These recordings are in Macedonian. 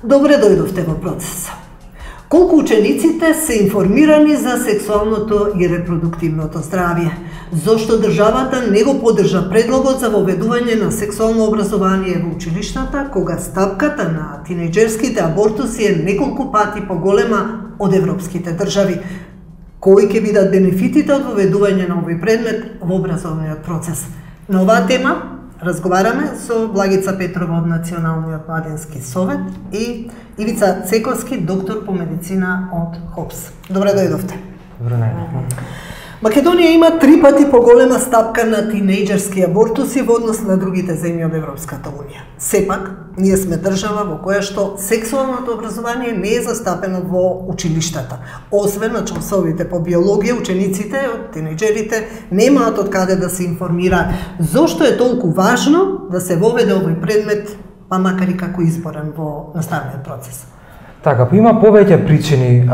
Добре дојдовте во процес. Колку учениците се информирани за сексуалното и репродуктивното здравје? Зошто државата не го поддржа предлогот за воведување на сексуално образование во училиштата, кога стапката на тинејџерските абортуси е неколку пати поголема од европските држави? Кои ќе бидат бенефитите од воведување на овој предмет во образовниот процес? На оваа тема разговараме со Благица Петрова од Националниот младински совет и Ивица Цековски, доктор по медицина од ХОПС. Добре дојдовте. Добре најдовте. Македонија има 3 пати поголема стапка на тинејџерски абортуси во однос на другите земји од Европската унија. Сепак, ние сме држава во која што сексуалното образование не е застапено во училиштата. Освен на часовите по биологија, учениците од тинејџерите немаат од каде да се информираат. Зошто е толку важно да се воведе овој предмет, па макар и како изборен во наставниот процес? Така, има повеќе причини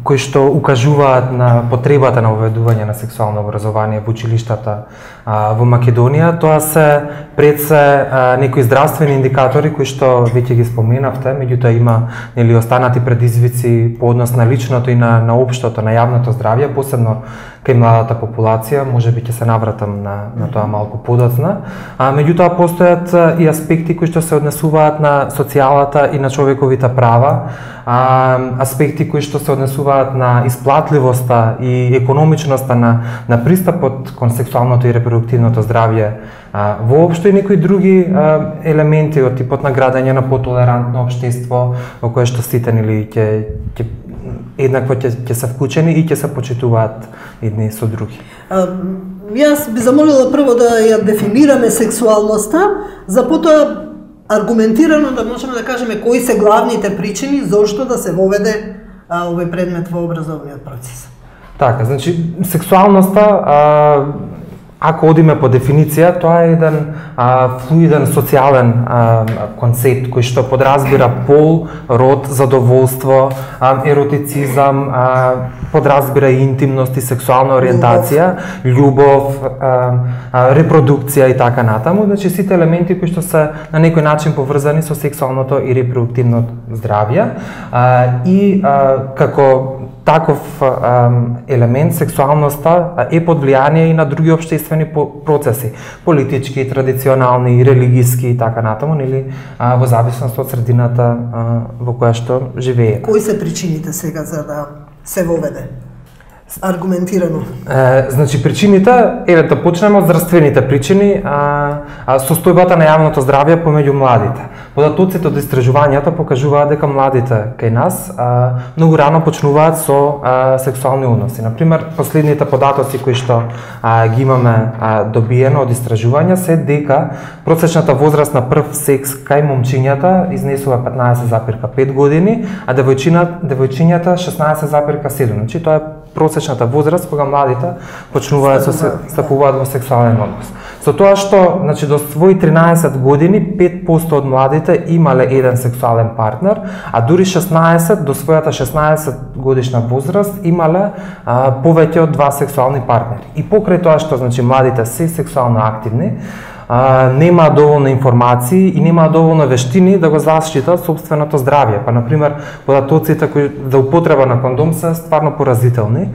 кои што укажуваат на потребата на воведување на сексуално образование во училиштата во Македонија. Тоа се пред се некои здравствени индикатори кои што веќе ги споменавте, меѓутоа има останати предизвици по однос на личното и на општото, на јавното здравје, посебно кај младата популација, можеби ќе се навратам на тоа малку подоцна. Меѓутоа постојат и аспекти кои што се однесуваат на социјалната и на човековите права, аспекти кои што се однесуваат на исплатливоста и економичноста на пристапот кон сексуалното и репродуктивното здравје воопшто и некои други елементи од типот на градење на потолерантно општество во кое што сите ќе еднакво ќе се вклучени и ќе се почитуваат едни со други. Јас би замолила прво да ја дефинираме сексуалноста, за потоа аргументирано да можеме да кажеме кои се главните причини зошто да се воведе овој предмет во образовниот процес. Така, значи сексуалноста, ако одиме по дефиниција, тоа е еден флуиден социјален концепт кој што подразбира пол, род, задоволство, еротицизам, подразбира и интимност и сексуална ориентација, љубов, репродукција и така натаму. Значи сите елементи кои што се на некој начин поврзани со сексуалното и репродуктивното здравје и како таков елемент сексуалноста е под влијание и на други општествени процеси, политички, традиционални, религиски и така натаму, нели во зависност од средината во која што живее. Кои се причините сега за да се воведе? Аргументирано. Значи причините, да почнеме од здравствените причини, состојбата на јавното здравје помеѓу младите. Податоците од истражувањата покажуваат дека младите кај нас многу рано почнуваат со сексуални односи. Например, последните податоци кои што ги имаме добиено од истражувања се дека просечната возраст на прв секс кај момчињата изнесува 15,5 години, а девојчињата 16,7. Значи тоа е просечната возраст кога младите почнуваат да стапуваат во сексуален однос. Со тоа што, значи до своји 13 години 5% од младите имале еден сексуален партнер, а дури 16 до својата 16 годишна возраст имале повеќе од 2 сексуални партнери. И покрај тоа што значи младите се сексуално активни, нема доволно информации и нема доволно вештини да го заштитат собственото здравје. Па, например, податоците кои за употреба на кондом се стварно поразителни.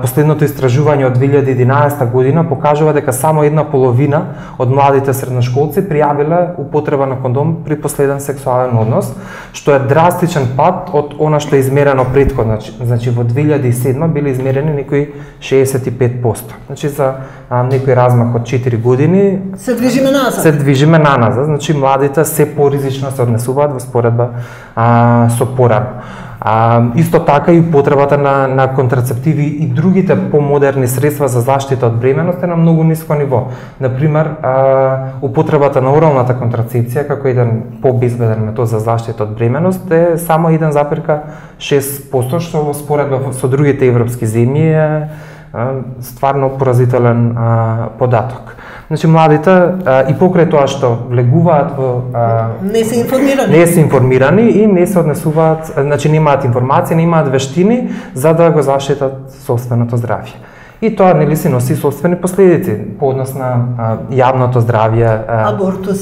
Последното истражување од 2011 година покажува дека само 1/2 од младите средношколци пријавиле употреба на кондом при последен сексуален однос, што е драстичен пат од она што е измерено претходно. Значи во 2007 биле измерени некои 65%. Значи за некој размах од 4 години се движиме назад. Се движиме наназад, значи младите се поризично се однесуваат во споредба со порано. Исто така и потребата на контрацептиви и другите помодерни средства за заштита од бременост е на многу ниско ниво. Например, употребата на оралната контрацепција како еден побезбеден метод за заштита од бременост е само 1,6%, што во споредба со другите европски земји е стварно поразителен податок. Значи младите и покрај тоа што влегуваат во не се информирани и не се однесуваат, значи немаат информација, немаат вештини за да го заштитат собственото здравје. И тоа нели си носи собствени последици по однос на јавното здравје,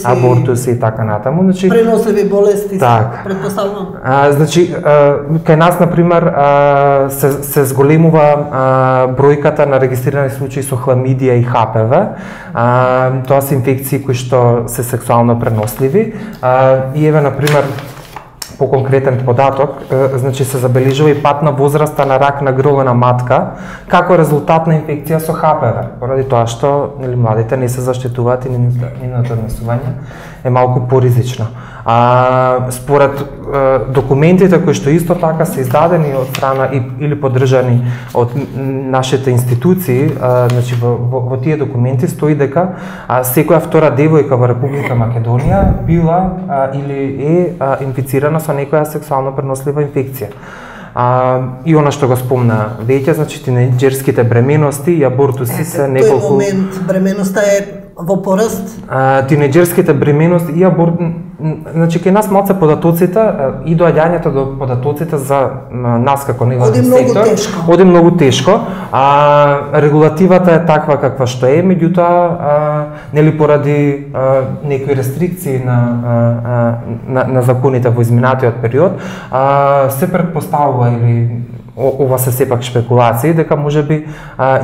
абортуси и така натаму. Значи преносливи болести, претпоставувам. Значи кај нас на пример се зголемува бројката на регистрирани случаи со хламидија и ХПВ. Тоа се инфекции кои што се сексуално преносливи. И еве на пример по конкретен податок, значи се забележува и пат на возраста на рак на грло на матка како резултат на инфекција со ХПВ, поради тоа што нели младите не се заштитуваат и нивното однесување е малку поризично. Според документите кои што исто така се издадени од страна или поддржани од нашите институции, значи во тие документи стои дека секоја втора девојка во Република Македонија била или е инфицирана со некоја сексуално пренослива инфекција. И она што го спомна веќе, значи тинејџерските бременности и абортуси се неколку... Тој момент бременоста е во пораст? Тинејџерските бременности и значи кај нас малце податоците и доаѓањето до податоците за нас како невладин сектор оди многу тешко. Регулативата е таква каква што е, меѓутоа нели поради некои рестрикции на законите во изминатиот период се претпоставува или ова се сепак шпекулации дека можеби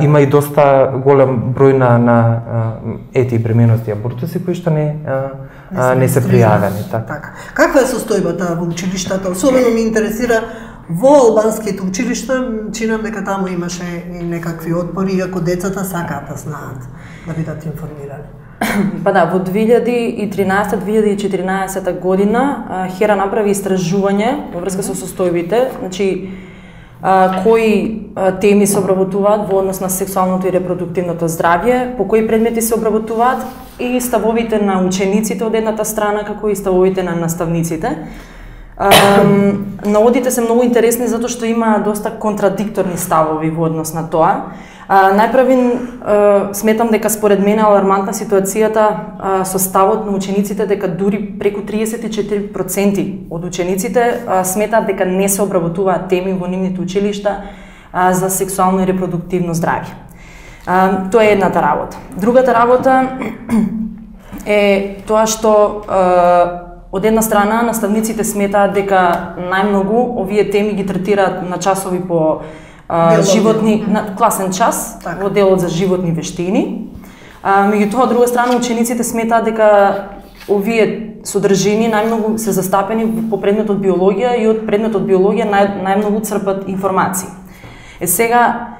има и доста голем број на ети бременности и абортуси кои што не се пријавени. Така. Каква е состојбата во училиштата? Особено ме интересира во албанските училишта, чинам дека таму имаше и некакви отпори, иако децата сакаат да знаат, да бидат информирани. Па да, во 2013-2014 година ХЕРА направи истражување во врска со состојбите, значи кои теми се обработуваат во однос на сексуалното и репродуктивното здравје, по кои предмети се обработуваат и ставовите на учениците од едната страна, како и ставовите на наставниците. Наводите се многу интересни затоа што има доста контрадикторни ставови во однос на тоа. Најпрвин сметам дека според мене алармантна ситуацијата со ставот на учениците дека дури преку 34% од учениците сметаат дека не се обработуваат теми во нивните училишта за сексуално и репродуктивно здравје. Тоа е едната работа. Другата работа е тоа што од една страна наставниците сметаат дека најмногу овие теми ги третираат на часови по животни, на класен час, во делот за животни вештини. Меѓутоа, од друга страна, учениците сметаат дека овие содржини најмногу се застапени по предметот биологија и од предметот биологија најмногу црпат информации. Сега,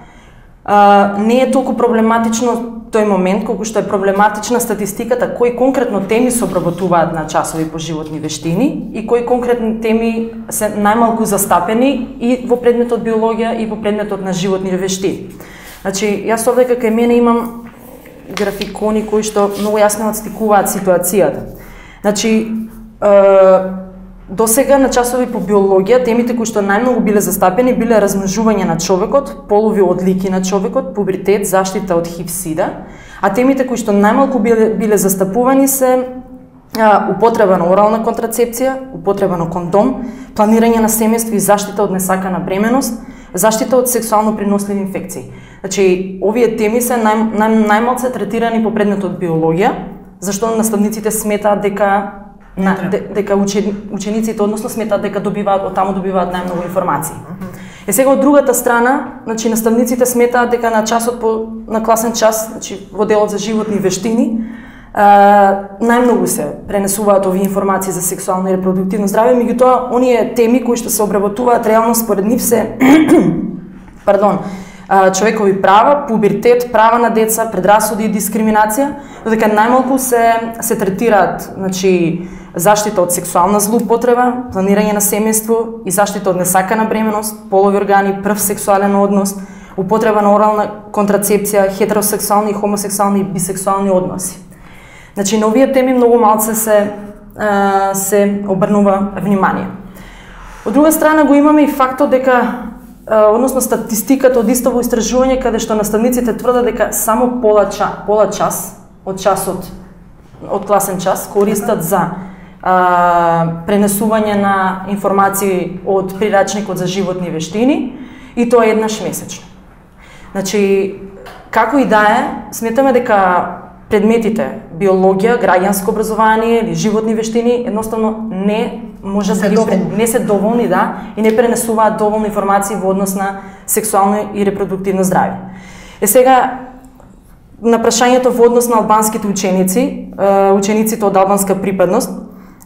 не е толку проблематично тој момент, колку што е проблематична статистиката кои конкретно теми се обработуваат на часови по животни вештини и кои конкретни теми се најмалку застапени и во предметот биологија и во предметот на животни вештини. Значи, јас овде кај мене имам графикони кои што многу јасно отстикуваат ситуацијата. Значи, досега на часови по биологија темите кои што најмногу биле застапени биле размножување на човекот, полови одлики на човекот, пубертет, заштита од ХИВ/СИДА, а темите кои што најмалку биле застапувани се употреба на орална контрацепција, употреба на кондом, планирање на семејство и заштита од несакана бременост, заштита од сексуално преносливи инфекции. Значи, овие теми се најмалку третирани по предметот биологија, зашто наставниците сметаат дека учениците односно сметаат дека од таму добиваат најмногу информации. Сега од другата страна, значи наставниците сметаат дека на часот на класен час, значи во делот за животни вештини, најмногу се пренесуваат овие информации за сексуално и репродуктивно здравје, меѓутоа оние теми кои што се обработуваат реално според нив се човекови права, пубертет, права на деца, предрасуди и дискриминација, додека најмалку се третираат, значи заштита од сексуална злоупотреба, планирање на семејство и заштита од несакана бременост, полови органи, прв сексуален однос, употреба на орална контрацепција, хетеросексуални и хомосексуални и бисексуални односи. Значи на овие теми многу малце се обрнува внимание. Од друга страна го имаме и фактот дека односно статистиката од истово истражување каде што наставниците тврдат дека само пола час од часот од класен час користат за пренесување на информации од прирачникот за животни вештини и тоа еднаш месечно. Значи Како и да е, сметаме дека предметите биологија, граѓанско образование или животни вештини едноставно не може не се доволни, да, и не пренесуваат доволно информации во однос на сексуално и репродуктивно здравје. Сега на прашањето во однос на албанските ученици, учениците од албанска припадност,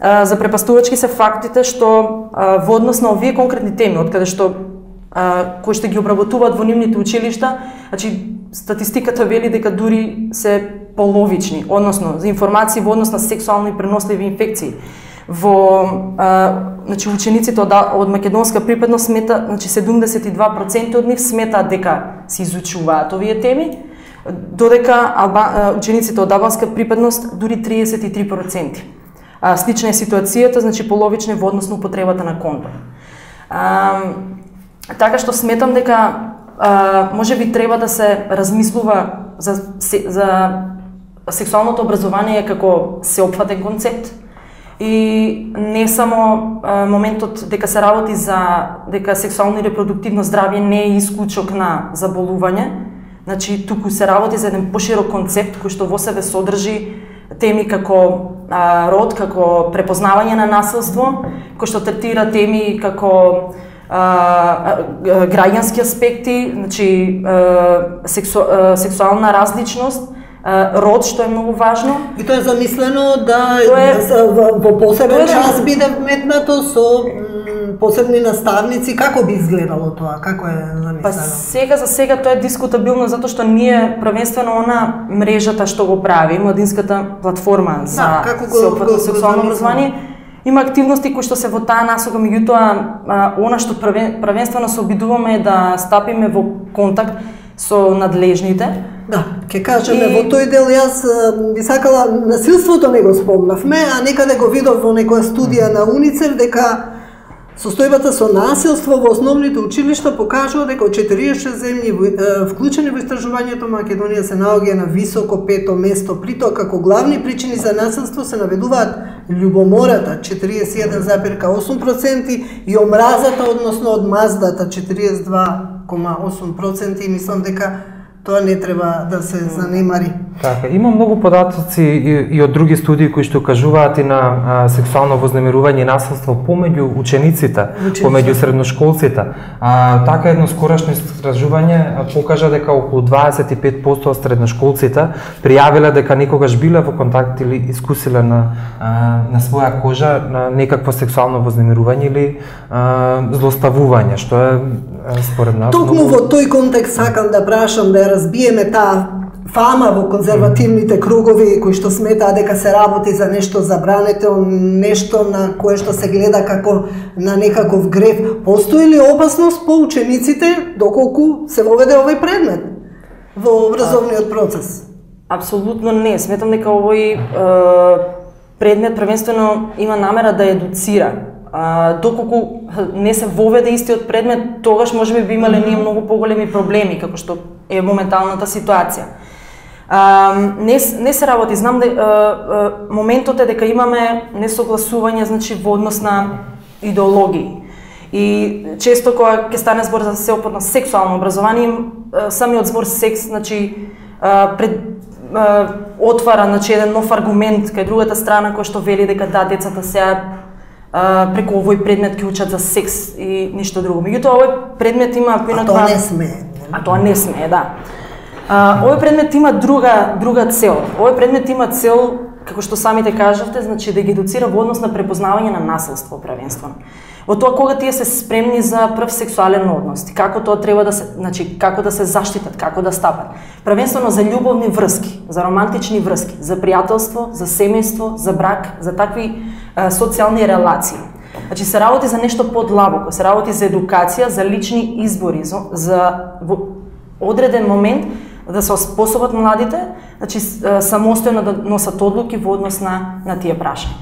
запрепастувачки се фактите што во однос на овие конкретни теми, од каде што кои што ги обработуваат во нивните училишта, значи статистиката вели дека дури се половични, односно за информации во однос на сексуално и преносливи инфекции. Значи учениците од македонска припадност смета, значи 72% од нив сметаат дека се изучуваат овие теми, додека учениците од албанска припадност дури 33%. Слична е ситуацијата, значи половична во однос на употребата на кондом. Така што сметам дека можеби треба да се размислува за сексуалното образование како сеопфатен концепт и не само моментот дека се работи за дека сексуално и репродуктивно здравје не е исклучок на заболување, значи туку се работи за еден поширок концепт кој што во себе содржи теми како род, како препознавање на насилство, кој што третира теми како граѓански аспекти, значи сексуална различност, род, што е многу важно. И тоа е замислено да во посебен час биде вметнато со посебни наставници. Како би изгледало тоа? Како е замислено? Па за сега тоа е дискутабилно затоа што ние првенствено она мрежата што го прави, младинската платформа за сеопфатно сексуално образование, има активности кои што се во таа насока, меѓутоа она што првенствено се обидуваме е да стапиме во контакт со надлежните. Да, ќе кажеме во тој дел, јас би сакала, насилството не го спомнавме, а некаде го видов во некоја студија на УНИЦЕФ дека состојбата со насилство во основните училишта покажува дека од 46 земји вклучени во истражувањето, Македонија се наоѓа на високо 5-то место. При тоа како главни причини за насилство се наведуваат љубомората 41,8% и омразата, односно одмаздата 42,8%, и мислам дека тоа не треба да се занемари. Така, има многу податоци и од други студии кои што кажуваат и на сексуално вознемирување и насилство помеѓу учениците, помеѓу средношколците. Така едно скорошно истражување покажа дека околу 25% од средношколците пријавиле дека некогаш биле во контакт или искусиле на своја кожа на некакво сексуално вознемирување или злоставување, што е според нас. Токму во тој контекст сакам да прашам, да разбиеме таа фама во конзервативните кругови кои што сметаат дека се работи за нешто забрането, нешто на кое што се гледа како на некаков грев. Постои ли опасност по учениците доколку се воведе овој предмет во образовниот процес? Апсолутно не. Сметам дека овој предмет првенствено има намера да едуцира. Доколку не се воведе истиот предмет, тогаш можеби би имале ние многу поголеми проблеми, како што е моменталната ситуација. Не се работи, знам моментот е дека имаме несогласување, значи во однос на идеологии. И често кога ќе стане збор за сеопфатно сексуално образование, самиот збор секс, значи отвара, значи еден нов аргумент кај другата страна кој што вели дека да, децата сега преку овој предмет ќе учат за секс и ништо друго. Меѓутоа овој предмет има тоа не смее. Тоа не смее, да. Овој предмет има друга цел. Овој предмет има цел, како што самите кажавте, значи да ги едуцира во однос на препознавање на насилство првенствено. Во тоа кога тие се спремни за прв сексуален однос, како тоа треба да се, значи како да се заштитат, како да стапат. Првенствено за љубовни врски, за романтични врски, за пријателство, за семејство, за брак, за такви социјални релации. Значи се работи за нешто подлабоко, се работи за едукација, за лични избори, за во одреден момент да се оспособат младите, значи самостојно да носат одлуки во однос на тие прашања.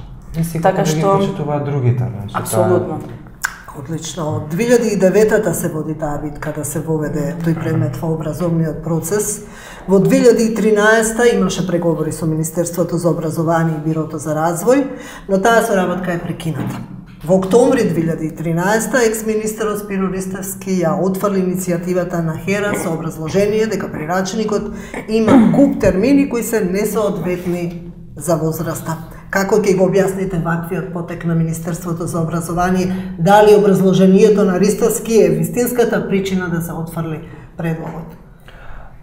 Така што да ги почитуваат другите, значи. Апсолутно. Одлично. Од 2009-та се води таа битка да се воведе тој предмет во образовниот процес. Во 2013-та имаше преговори со Министерството за образование и Бирото за развој, но таа соработка е прекината. Во октомври 2013 екс-министерот Спиро Ристевски ја отфрли иницијативата на HERA со образложение дека прирачникот има куп термини кои се несоодветни за возраста. Како ќе го објасните ваквиот потек на Министерството за образование? Дали образложението на Ристевски е вистинската причина да се отфрли предлогот?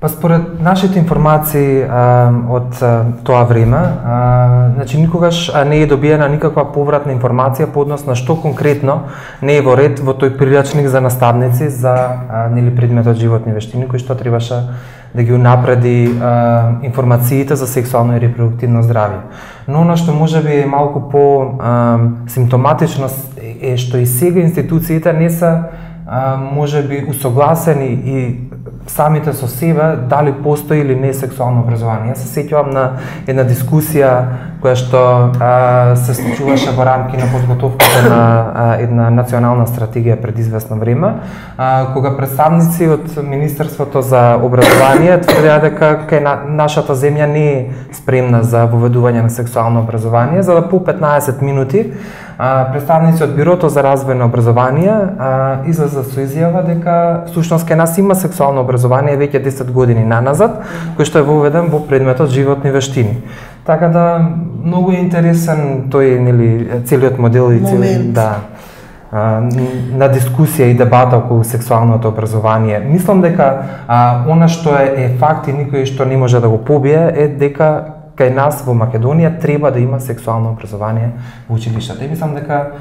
Па според нашите информации од тоа време, значи никогаш не е добиена никаква повратна информација по однос на што конкретно не е во ред во тој прирачник за наставници за предметот животни вештини, кој што требаше да ги унапреди информациите за сексуално и репродуктивно здравје. Но она што можеби е малку по симптоматично е што и сега институциите не се можеби усогласени и самите со себе дали постои или не сексуално образование. Јас се сеќавам на една дискусија која што се случуваше во рамки на подготовката на една национална стратегија пред известно време, кога представници од Министерството за образование тврдеа дека нашата земја не е спремна за воведување на сексуално образование, за да по 15 минути представници од Бирото за развој на образование излеза со изјава дека всушност кај нас има сексуално образование веќе 10 години наназад, кој што е воведен во предметот животни вештини. Така да многу е интересен тој целиот модел и на дискусија и дебата околу сексуалното образование. Мислам дека она што е факт и никој што не може да го побие е дека кај нас во Македонија треба да има сексуално образование во училиштата. И мислам дека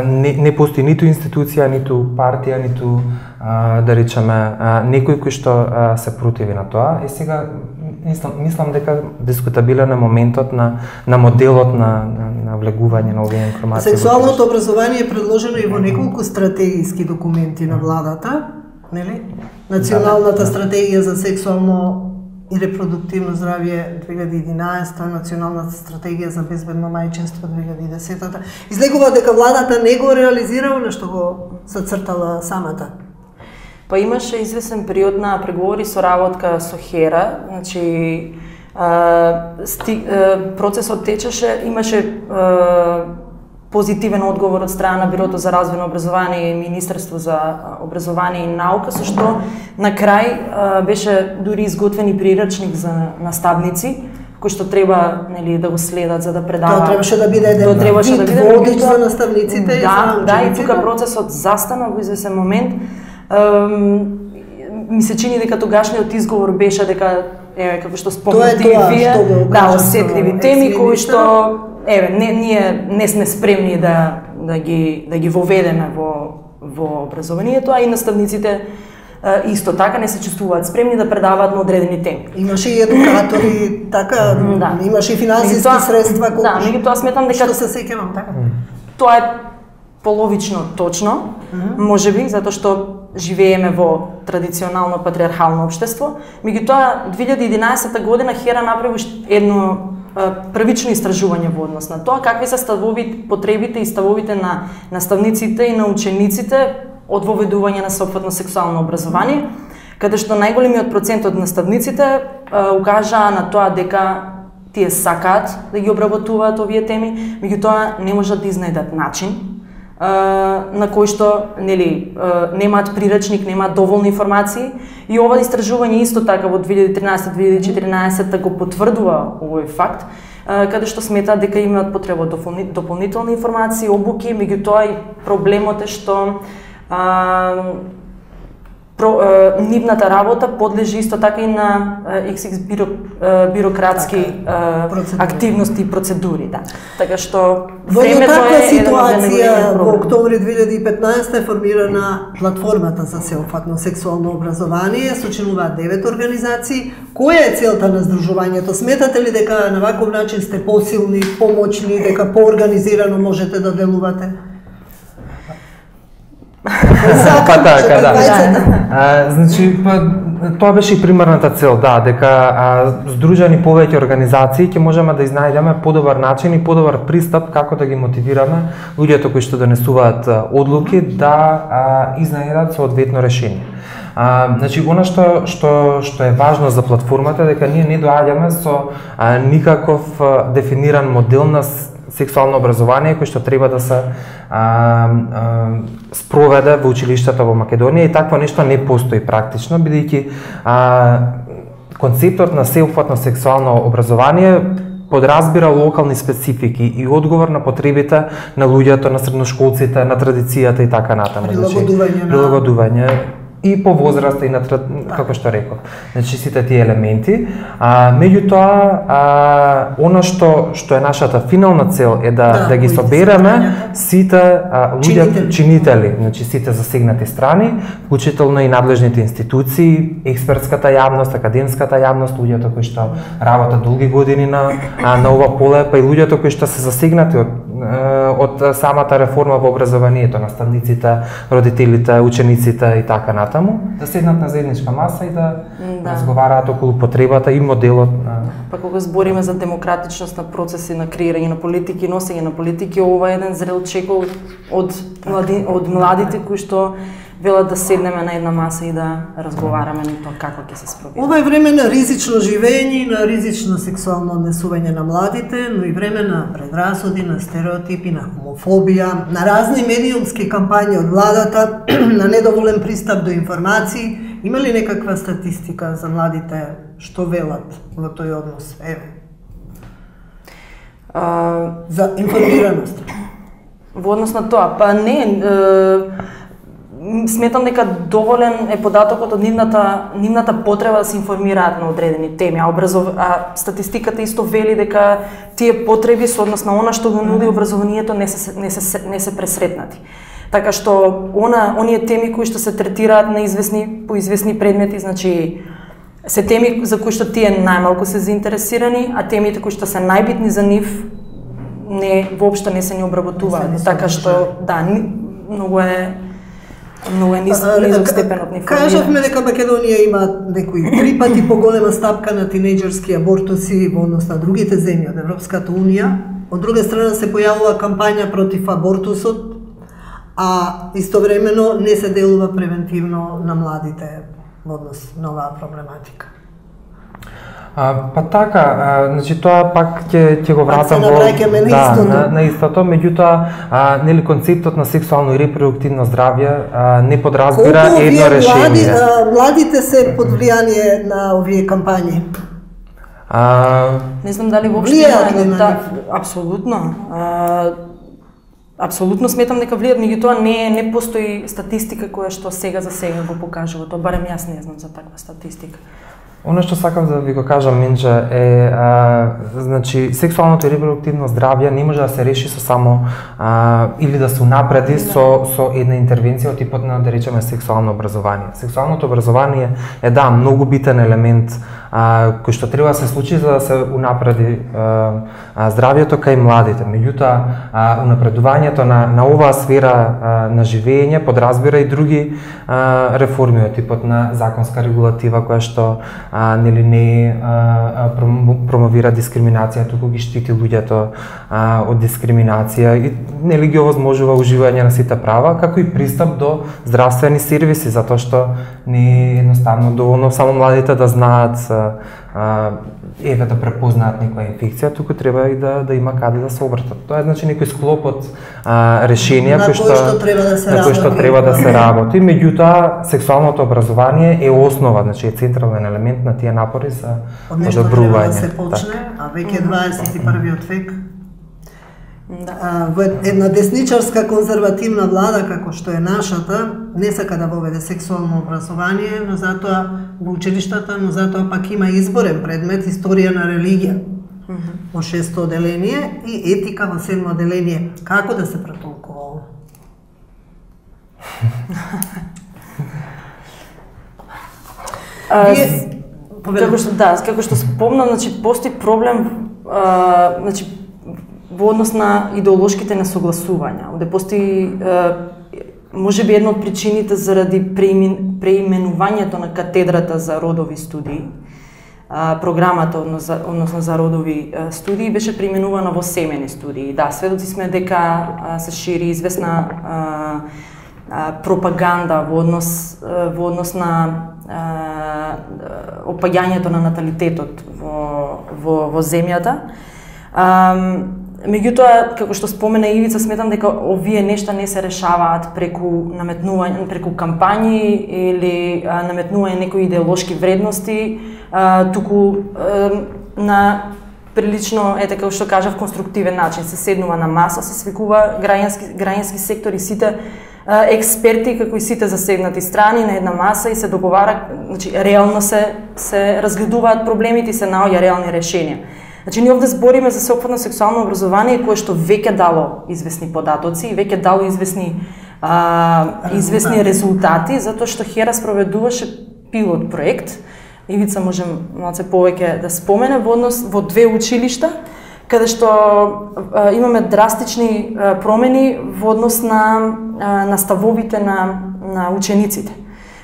не постои ниту институција, ниту партија, ниту да речеме некој кој што се противи на тоа. И сега мислам дека дискутабилен е моментот на моделот на влегување на овие информации. Сексуалното образование е предложено и во неколку стратегиски документи на владата, нели? Националната стратегија за сексуално и репродуктивно здравје 2011, Националната стратегија за безбедно мајчинство 2010. Излегува дека владата не го реализира она што го зацртала самата. Па имаше известен период на преговори со работка со HERA, значи процесот течеше, имаше позитивен одговор од страна на Бирото за развој на образование и Министерство за образование и наука, со што на крај беше дури изготвен и прирачник за наставници, кој што треба да го следат за да предаваат. Тоа требаше да биде еден водич за наставниците и за да, и тука процесот застана во известен момент. Ми се чини дека тогашниот изговор беше дека како што спомнате и вие, осетливи теми кои што ние не сме спремни да ги воведеме во образованието, а и наставниците исто така не се чувствуваат спремни да предаваат на одредени теми. Имаше и едукатори, така, имаше и финансиски средства, меѓутоа сметам дека што се сеќавам така. Тоа е половично точно, можеби, затоа што живееме во традиционално патриархално општество. Меѓутоа 2011 година HERA направи едно првично истражување во однос на тоа какви се потребите и ставовите на наставниците и на учениците од воведување на сопфатно сексуално образование, каде што најголемиот процент од наставниците укажаа на тоа дека тие сакаат да ги обработуваат овие теми, меѓутоа не можат да изнајдат начин на кој што немаат прирачник, немаат доволно информации, и ова истражување исто така во 2013-2014 го потврдува овој факт, каде што сметаат дека имаат потреба дополнителни информации, обуки, меѓутоа и проблемот е што нивната работа подлежи исто така и на XX бирократски активности и процедури, Така што во таква ситуација во октомври 2015 е формирана платформата за сеопфатно сексуално образование, сочинуваат 9 организации. Која е целта на здружувањето? Сметате ли дека на ваков начин сте посилни, помоćни, дека поорганизирано можете да делувате? Значи, тоа беше и примерната цел, дека здружени повеќе организации ќе можеме да изнајдеме подобар начин и подобар пристап како да ги мотивираме луѓето кои што донесуваат одлуки да изнајдат соодветно решение. Значи, она што е важно за платформата е дека ние не доаѓаме со никаков дефиниран модел на сексуално образование кој што треба да се спроведе во училиштата во Македонија и такво нешто не постои практично, бидејќи концептот на сеопфатно сексуално образование подразбира локални специфики и одговор на потребите на луѓето, на средношколците, на традицијата и така натаму. Прилагодување и по возраста и на како што реков. Значи сите тие елементи, меѓутоа она што е нашата финална цел е да ги собереме сите луѓе чинители, значи сите засегнати страни, вклучително и надлежните институции, експертската јавност, академската јавност, луѓето кои што работат долги години на ова поле, па и луѓето кои што се засегнати од самата реформа во образованието, наставниците, родителите, учениците и така натаму, да седнат на заедничка маса и да разговараат околу потребата и моделот на... Па кога збориме за демократичност на процеси на креирање на политики, носење на политики, ова е еден зрел чекол од младите кои што велат да седнеме на една маса и да разговараме на тоа како ќе се спроведе. Ова е време на ризично живење и на ризично сексуално однесување на младите, но и време на предрасуди, на стереотипи, на хомофобија, на разни медиумски кампањи од владата, на недоволен пристап до информации. Има ли некаква статистика за младите што велат во тој однос? Еве. За информираност. Во однос на тоа, па не, сметам дека доволен е податокот од нивната потреба да се информираат на одредени теми, а статистиката исто вели дека тие потреби со однос на она што го нуди образованието не се пресретнати. Така што оние теми кои што се третираат на по известни предмети, значи се теми за кои што тие најмалку се заинтересирани, а темите кои што се најбитни за нив воопшто не се ни обработуваат. Така што многу е низок степенот на информирање. Кажавме дека Македонија има некои 3 пати поголема стапка на тинејџерски абортуси во однос на другите земји од Европската Унија. Од друга страна се појавува кампања против абортусот, а истовремено не се делува превентивно на младите во однос на оваа проблематика. Па така, значи тоа пак ќе го вратам на истото, меѓутоа нели концептот на сексуално и репродуктивно здравје не подразбира едно решение. Младите се под влијание на овие кампањи? Не знам дали воопшто апсолутно. Апсолутно сметам дека влијат, меѓутоа не постои статистика која што сега за сега го покажува тоа, барем јас не знам за таква статистика. Оно што сакам да ви го кажам, Минџа, е значи сексуалното и репродуктивно здравје не може да се реши со само или да се унапреди со една интервенција од типот на, да речеме, сексуално образование. Сексуалното образование е многу битен елемент кој што треба да се случи за да се унапреди здравјето кај младите. Меѓутоа, унапредувањето на оваа сфера на живење подразбира и други реформи од типот на законска регулатива која што нели не промовира дискриминација, туку ги штити луѓето од дискриминација и нели ги овозможува уживање на сите права, како и пристап до здравствени сервиси, затоа што не е едноставно доволно само младите да знаат да препознаат некоја инфекција, туку треба и да има каде да се обратат. Тоа е значи некој склоп од решенија кои што треба да се работи. Меѓутоа, сексуалното образование е основа, значи е централен елемент на тие напори за одобрување. Да се почне, а веќе 21 век. Во една десничарска конзервативна влада како што е нашата, не сака да воведе сексуално образование, но затоа во училиштата, но затоа пак има изборен предмет историја на религија во 6-то оделение и етика во 7-то оделение. Како да се претолкува ова? Како што спомнам, значи постои проблем, значи во однос на идеолошките несогласувања. Овде постои можеби една од причините заради преименувањето на катедрата за родови студии. Програмата односно за родови студии беше преименувана во семени студии. Да, сведоци сме дека се шири известна пропаганда во однос на опаѓањето на наталитетот во земјата. Меѓутоа, како што спомена Ивица, сметам дека овие нешта не се решаваат преку наметнување, преку кампањи или наметнување некои идеолошки вредности, туку на прилично, како што кажав, конструктивен начин. Се седнува на маса, се свикува граѓански сектор и сите експерти, како и сите засегнати страни на една маса и се договара, значи реално се разгледуваат проблемите и се наоѓа реални решенија. Значи, ние овде збориме за сеопфатно сексуално образование кое што веќе дало известни податоци и веќе дало известни резултати, затоа што HERA спроведуваше пилот проект. Ивица може малце повеќе да спомене во две училишта, каде што имаме драстични промени во однос на ставовите на учениците,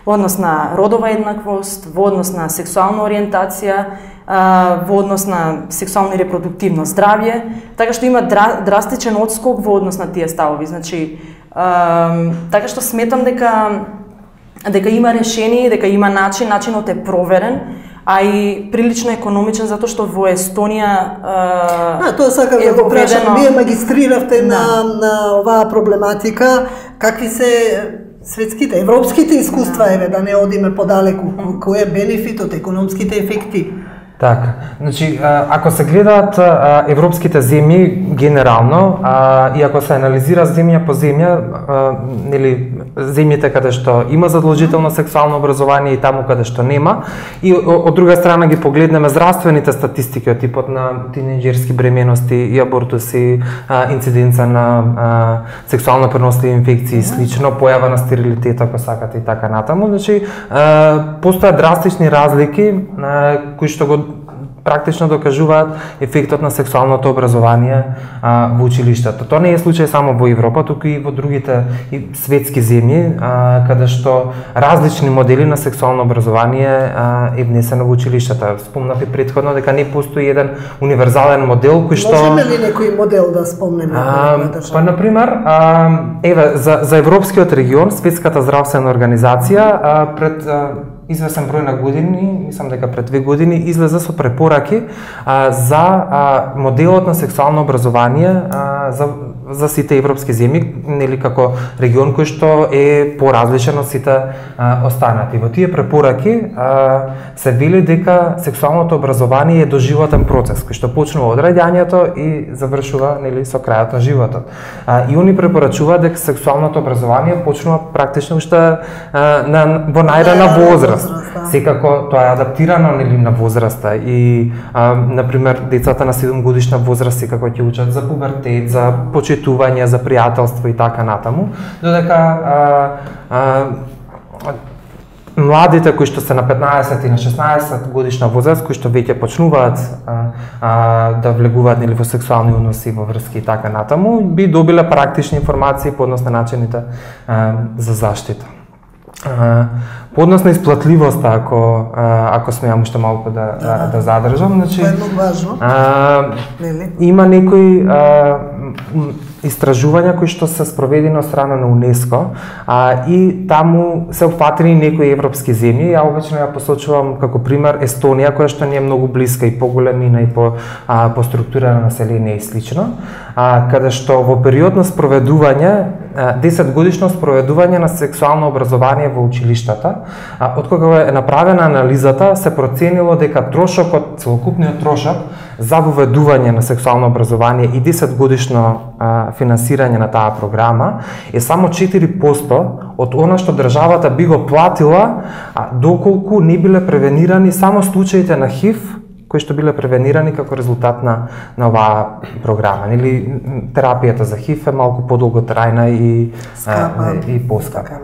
во однос на родова еднаквост, во однос на сексуална ориентација, во однос на сексуално и репродуктивно здравје, така што има драстичен отскок во однос на тие ставови. Значи, така што сметам дека има решение, дека има начинот е проверен, а и прилично економичен, затоа што во Естонија тоа сакам да го прашам. Вие магистриравте на оваа проблематика, какви се светските, европските искуства, еве да не одиме подалеку, кој е бенефитот, економските ефекти? Така, значи, ако се гледаат европските земји генерално, и ако се анализира земја по земја, нели, земјите каде што има задолжително сексуално образование и таму каде што нема, и од друга страна ги погледнеме здравствените статистики од типот на тинејџерски бременности и абортуси, инциденца на сексуално преносливи инфекции и слично, појава на стерилитет, ако сакате и така натаму. Значи, постојат драстични разлики кои што го практично докажуваат ефектот на сексуалното образование во училиштата. Тоа не е случај само во Европа, туку и во другите светски земји, каде што различни модели на сексуално образование е внесено во училиштата. Спомнав и претходно дека не постои еден универзален модел кој што... Можеме ли некој модел да спомнеме? Па, например, еве, за европскиот регион, Светската здравствена организација пред известен број на години, мислам дека пред 2 години, излезе со препораки за моделот на сексуално образование за сите европски земји, нели како регион кој што е поразличен од сите останати. Во тие препораки се вели дека сексуалното образование е доживотен процес кој што почнува од раѓањето и завршува, нели, со крајот на животот. И они препорачуваат дека сексуалното образование почнува практично уште во најрана возраст. Секако тоа е адаптирано, нели, на возраста и например децата на 7 годишна возраст секако ќе учат за пубертет, за почитување, за пријателство и така натаму, додека младите кои што се на 15 и на 16 годишна возраст, кои што веќе почнуваат да влегуваат, нели, во сексуални односи, во врски и така натаму, би добиле практични информации по однос на начините за заштита. По однос на исплатливоста, ако смеам уште малку да задржам, значи тоа е многу важно. Има некои истражувања кои што се спроведени од страна на УНЕСКО и таму се опфатени некои европски земји. Ја обично ја посочувам како пример Естонија, која што ни е многу блиска и поголемина и по структура на население и слично, каде што во период на спроведување 10 годишно спроведување на сексуално образование во училиштата, откога е направена анализата, се проценило дека трошокот, целокупниот трошок за воведување на сексуално образование и 10 годишно финансирање на таа програма е само 4% од она што државата би го платила доколку не биле превенирани само случаите на ХИВ кои што биле превенирани како резултат на оваа програма. Нели, терапијата за ХИВ е малку подолготрајна и поскапа.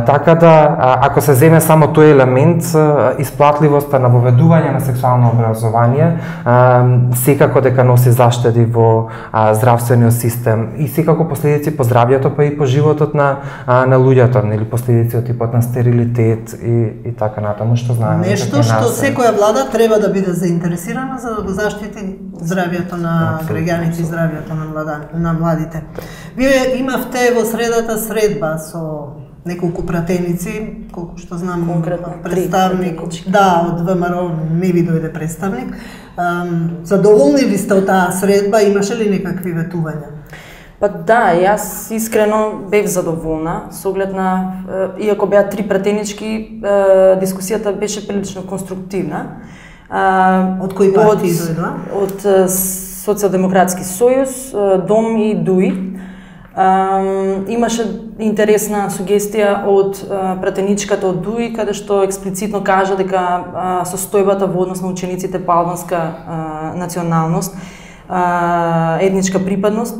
Така да, ако се земе само тој елемент, исплатливоста на воведување на сексуално образование секако дека носи заштеди во здравствениот систем и секако последици по здравјето, па и по животот на луѓето, нели, последици од типот на стерилитет и така натаму, што знаеме. Нешто што секоја влада треба да биде заинтересирана за да го заштити здравјето на граѓаните и здравјето на младите. Вие имавте во средата средба со неколку пратеници, колку што знам, конкретно представник, пратенички. да, од ВМРО не ви дојде представник. Задоволни ли сте од таа средба, имаше ли некакви ветувања? Па да, јас искрено бев задоволна, со оглед на, иако беа 3 пратенички, дискусијата беше прилично конструктивна. Од кои партии дојдоа? Од Социјалдемократски сојуз, Дом и ДУИ. Имаше интересна сугестија од пратеничката од ДУИ, каде што експлицитно кажа дека состојбата во однос на учениците по албанска националност, етничка припадност,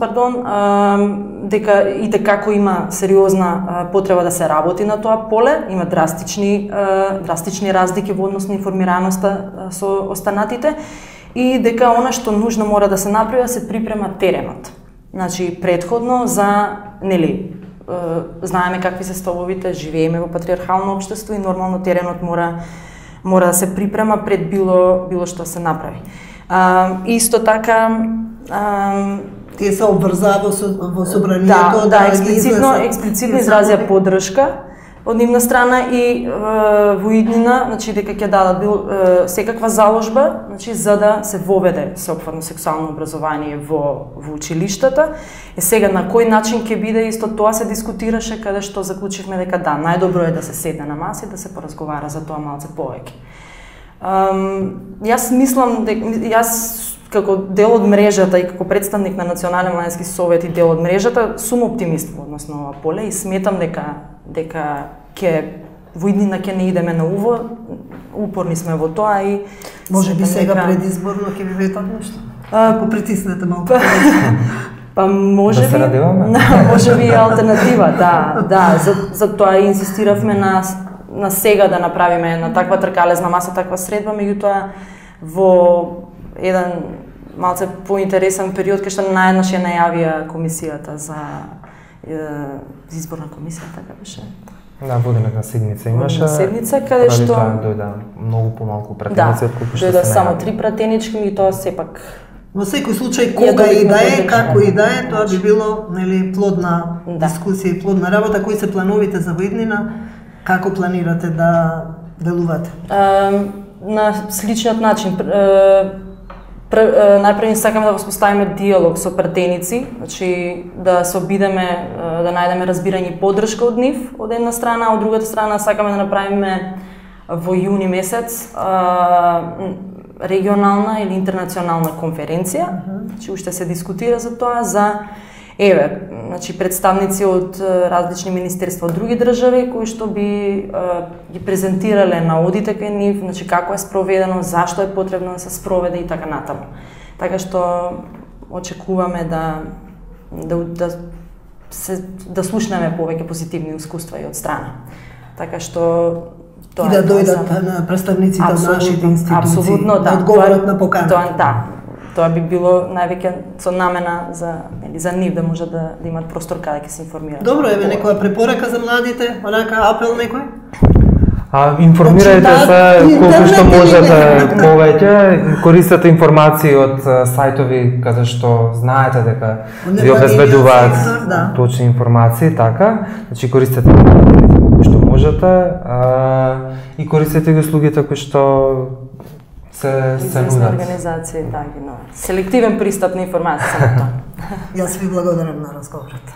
дека и како има сериозна потреба да се работи на тоа поле, има драстични разлики во однос на информираноста со останатите и дека она што нужно мора да се направи, се припрема теренот. Значи, предходно за, знаеме какви се столовите, живееме во патриархално општество и нормално теренот мора да се припрема пред било што се направи. Исто така тие се обврзаа во собранието да експлицитно изразија поддршка од нивна страна и во иднина, значи дека ќе дадат секаква заложба, значи за да се воведе сеопфатно сексуално образование во училиштата. Сега на кој начин ќе биде, исто тоа се дискутираше, каде што заклучивме дека да, најдобро е да се седне на маса и да се поразговара за тоа малце повеќе. Јас мислам дека јас како дел од мрежата и како представник на Национален младински совет и дел од мрежата сум оптимист во однос на ова поле и сметам дека ќе во иднина ќе не идеме на уво, упорни сме во тоа и може би сега предизборно ќе ви ветат нешто. Ако притиснете малку. Па може би, може би алтернатива, да, за тоа инсистиравме на сега да направиме на таква тркалезна маса, таква средба, меѓутоа во еден малце поинтересен период кај што наеднаш ја најавија комисијата за изборна комисија, така беше. Да, водената седница имаше. Седница каде што дојда многу помалку пратеници отколку што се најави. Дојда само 3 пратенички и тоа сепак. Во секој случај, кога и да е, како и да е, тоа би било плодна дискусија и плодна работа. Кои се плановите за иднина? Како планирате да делувате? На сличниот начин. Најпрво сакаме да воспоставиме диалог со пратеници, значи да се обидеме да најдеме разбирање и поддршка од нив, од една страна, а од другата страна сакаме да направиме во јуни месец регионална или интернационална конференција, значи уште се дискутира за тоа, значи представници од различни министерства од други држави кои што би ги презентирале на одите кај нив, значи како е спроведено, зашто е потребно да се спроведе и така натаму. Така што очекуваме да слушнеме повеќе позитивни искуства и од страна. Така што и да дојдат на представниците од нашите институции, да одговорат на поканата. Тоа би било највеќе со намена за нив да можат да имат простор каде ќе се информираат. Добро, еве некоја препорака за младите, онака апел некој? Информирајте се колку што можете повеќе, користете информации од сајтови каде што знаете дека ви обезбедуваат точни информации, така. Значи користете колку што можете и користете ги услугите кои што се нудат. Организација, да, селективен пристап на информација. Јас ви благодарам на разговорот.